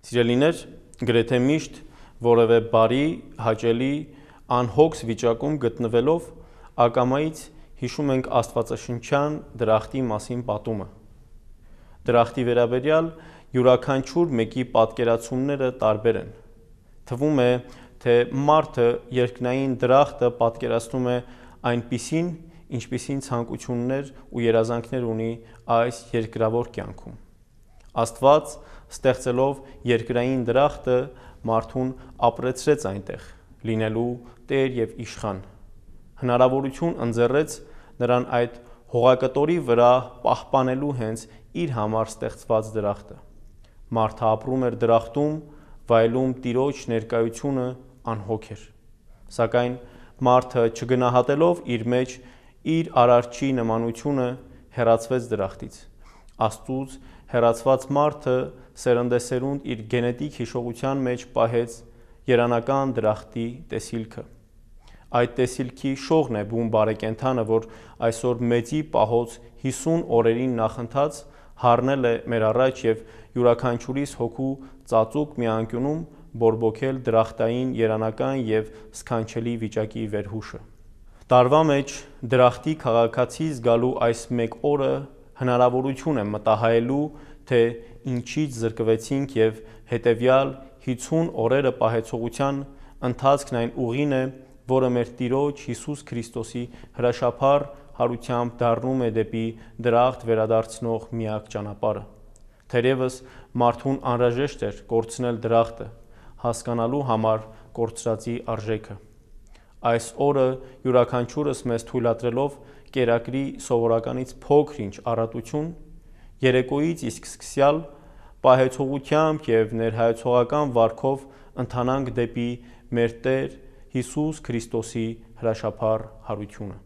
Սիրելիներ, գրեթե միշտ որևէ բարի, հաճելի, անհոգս վիճակում գտնվելով ակամայից հիշում ենք աստվածաշնչյան դրախտի մասին պատումը։ Դրախտի վերաբերյալ յուրաքանչյուր մեկի պատկերացումները տարբեր են։ Թվում է, թե մարդը երկնային դրախտը պատկերացնում է այնպիսին, ինչպիսին ցանկություններ ու երազանքներ ունի այս երկրավոր կյանքում։ Աստված, ստեղծելով երկրային դրախտը, մարդուն ապրեցրեց այնտեղ, լինելու տեր և իշխան։ Հնարավորություն ընձեռեց նրան այդ հողակտորի վրա պահպանելու հենց իր համար ստեղծված դրախտը։ Մարդը ապրում էր դրախտում, վայելում Տիրոջ ներկայությունը անհոգ էր։ Սակայն մարդը չգնահատելով իր մեջ իր արարչի նմանությունը, հեռացվեց դրախտից։ Աստծուց հեռացված մարդը սերնդեսերունդ իր գենետիկ հիշողության մեջ պահեց երանական դրախտի տեսիլքը։ Այդ տեսիլքի շողն է բուն բարեկենդանը, որ այսօր մեծի պահոց 50 օրերին նախընթաց հառնել է մեր առաջ և յուրաքանչյուրիս հոգու ծածուկ մի անկյունում բորբոքել դրախտային երանական և սքանչելի վիճակի վերհուշը։ Տարվա մեջ դրախտի քաղաքացի զգալու այս մեկ օրը հնարավորություն է մտահայելու, թե ինչից զրկվեցինք և հետևյալ 50 օրերը պահեցողության ընթացքն այն ուղին է, որը մեր Տիրոջ Հիսուս Քրիստոսի հրաշափառ հարությամբ դառնում է դեպի դրախտ վերադարձնող միակ ճանապարհը։ Թերևս մարդուն անհրաժեշտ էր կորցնել դրախտը, հասկանալու համար կորցրածի արժեքը։ Այս օրը յուրաքանչյուրս մեզ թույլատրելով կերակրի սովորականից փոքր-ինչ առատություն, երեկոյից իսկ սկսյալ պահեցողությամբ և ներհայեցողական վարքով ընթանանք դեպի մեր Տեր Հիսուս Քրիստոսի հրաշափառ հարությունը։